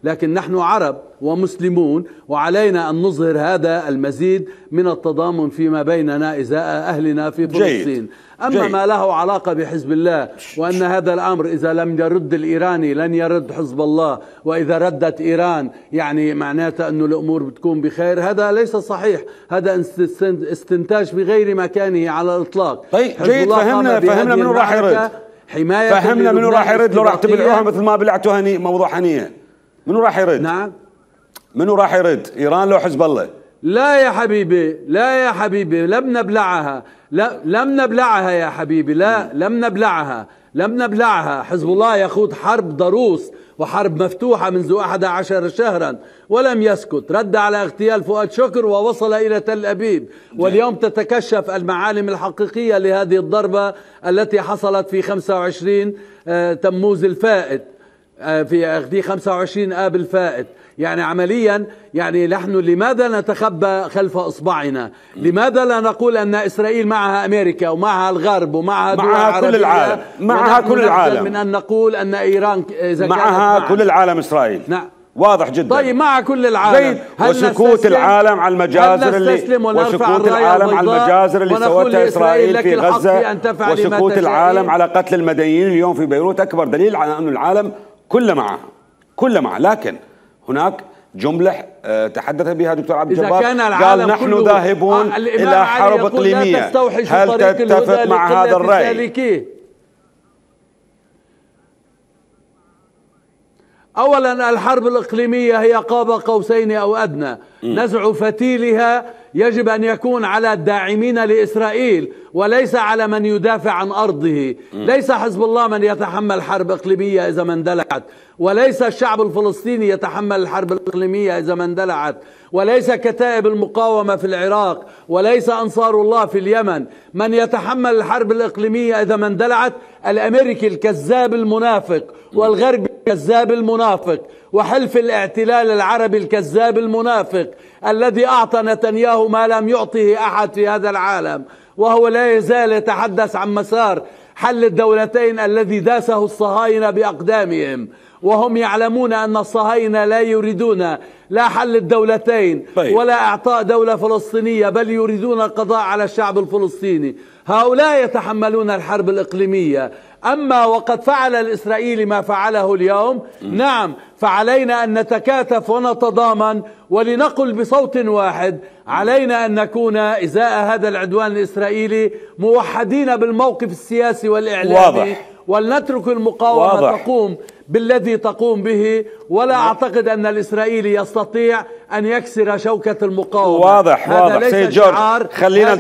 لكن نحن عرب ومسلمون، وعلينا أن نظهر هذا المزيد من التضامن فيما بيننا إزاء أهلنا في فلسطين. أما ما له علاقة بحزب الله، وأن هذا الأمر إذا لم يرد الإيراني لن يرد حزب الله، وإذا ردت إيران يعني معناته أنه الأمور بتكون بخير، هذا ليس صحيح، هذا استنتاج بغير مكانه على الإطلاق. طيب جيد، فهمنا منو راح يرد، فهمنا منو راح يرد. لو راح تبلعوها مثل ما بلعتوا موضوع هنية، منو راح يرد؟ نعم، منو راح يرد؟ إيران لو حزب الله؟ لا يا حبيبي، لا يا حبيبي، لم نبلعها، لا لم نبلعها يا حبيبي، لا لم نبلعها، لم نبلعها. حزب الله يخوض حرب ضروس وحرب مفتوحة منذ 11 شهرا ولم يسكت، رد على اغتيال فؤاد شكر ووصل إلى تل أبيب، واليوم تتكشف المعالم الحقيقية لهذه الضربة التي حصلت في 25 تموز الفائت، في 25 آب الفائت. يعني عمليا يعني نحن لماذا نتخبى خلف إصبعنا؟ لماذا لا نقول أن إسرائيل معها أمريكا ومعها الغرب ومعها دول معها كل العالم، معها كل العالم، من أن نقول أن إيران إذا معها كل العالم إسرائيل. نعم واضح جدا. طيب مع كل العالم، وسكوت العالم على المجازر اللي سوتها إسرائيل في غزة، وسكوت العالم على قتل المدنيين اليوم في بيروت أكبر دليل على أن العالم كله معه. لكن هناك جملة تحدث بها دكتور عبد الجبار، قال نحن ذاهبون إلى حرب إقليمية. هل تتفق مع هذا الرأي؟ أولا الحرب الإقليمية هي قاب قوسين أو أدنى، نزع فتيلها يجب أن يكون على الداعمين لإسرائيل وليس على من يدافع عن أرضه. ليس حزب الله من يتحمل حرب إقليمية إذا ما اندلعت، وليس الشعب الفلسطيني يتحمل الحرب الإقليمية إذا ما اندلعت، وليس كتائب المقاومة في العراق، وليس أنصار الله في اليمن. من يتحمل الحرب الإقليمية إذا ما اندلعت الأمريكي الكذاب المنافق، والغرب الكذاب المنافق، وحلف الاعتلال العربي الكذاب المنافق الذي أعطى نتنياهو ما لم يعطه أحد في هذا العالم، وهو لا يزال يتحدث عن مسار حل الدولتين الذي داسه الصهاينة بأقدامهم، وهم يعلمون أن الصهاينة لا يريدون لا حل الدولتين ولا إعطاء دولة فلسطينية، بل يريدون القضاء على الشعب الفلسطيني. هؤلاء يتحملون الحرب الإقليمية. أما وقد فعل الإسرائيلي ما فعله اليوم، نعم، فعلينا أن نتكاتف ونتضامن ولنقل بصوت واحد. علينا أن نكون إزاء هذا العدوان الإسرائيلي موحدين بالموقف السياسي والإعلامي، ولنترك المقاومة تقوم بالذي تقوم به. ولا أعتقد أن الإسرائيلي يستطيع أن يكسر شوكة المقاومة. واضح سيد جورج، خلينا